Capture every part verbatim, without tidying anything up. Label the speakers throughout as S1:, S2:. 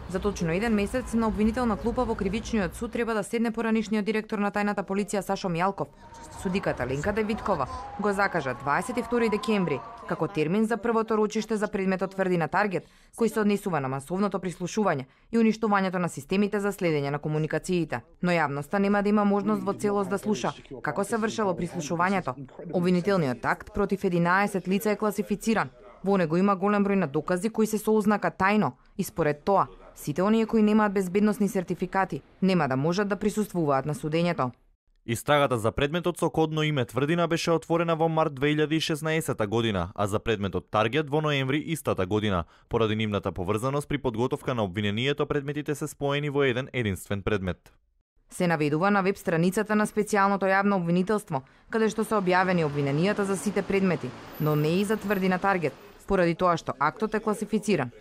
S1: За точно еден месец на обвинителна клупа во кривичниот суд треба да седне поранишниот директор на тајната полиција Сашо Мијалков. Судиката Ленка Давидкова го закажа дваесет и втори декември како термин за првото рочиште за предметот тврдина Таргет, кој се однесува на масовното прислушување и уништувањето на системите за следење на комуникациите. Но јавноста нема да има можност во целост да слуша како се вршело прислушувањето. Обвинителниот акт против единаесет лица е класифициран. Во него има голем број на докази кои се со ознака тајно и според тоа сите оние кои немаат безбедносни сертификати нема да можат да присуствуваат на судењето.
S2: Истрагата за предметот со кодно име Тврдина беше отворена во март две илјади и шеснаесетта година, а за предметот Таргет во ноември истата година. Поради нивната поврзаност при подготовка на обвинението, предметите се споени во еден единствен предмет.
S1: Се наведува на веб страницата на специјалното јавно обвинителство, каде што се објавени обвиненијата за сите предмети, но не и за Тврдина Таргет, поради тоа што актот е класифициран.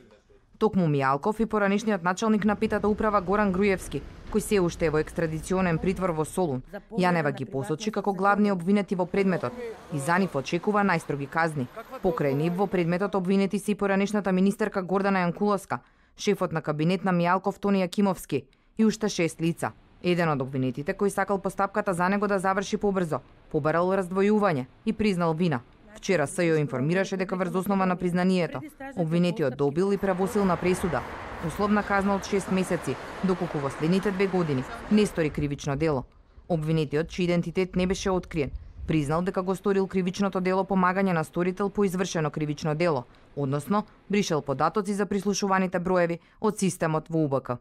S1: Токму Мијалков и поранишниот началник на петата управа Горан Груевски, кој се уште е во екстрадиционен притвор во Солун, Јанева ги посочи како главни обвинети во предметот и за нив очекува најстроги казни. Покрај нив во предметот обвинети се и поранишната министерка Гордана Јанкуловска, шефот на кабинет на Мијалков Тони Јакимовски и уште шест лица. Еден од обвинетите кој сакал постапката за него да заврши побрзо, побарал раздвојување и признал вина. Вчера СЈО информираше дека врз основа на признанието, обвинетиот добил и правосилна пресуда, условна казна од шест месеци, доколку во следните две години не стори кривично дело. Обвинетиот, чиј идентитет не беше откриен, признал дека го сторил кривичното дело помагање на сторител по извршено кривично дело, односно бришел податоци за прислушуваните броеви од системот во У Б К.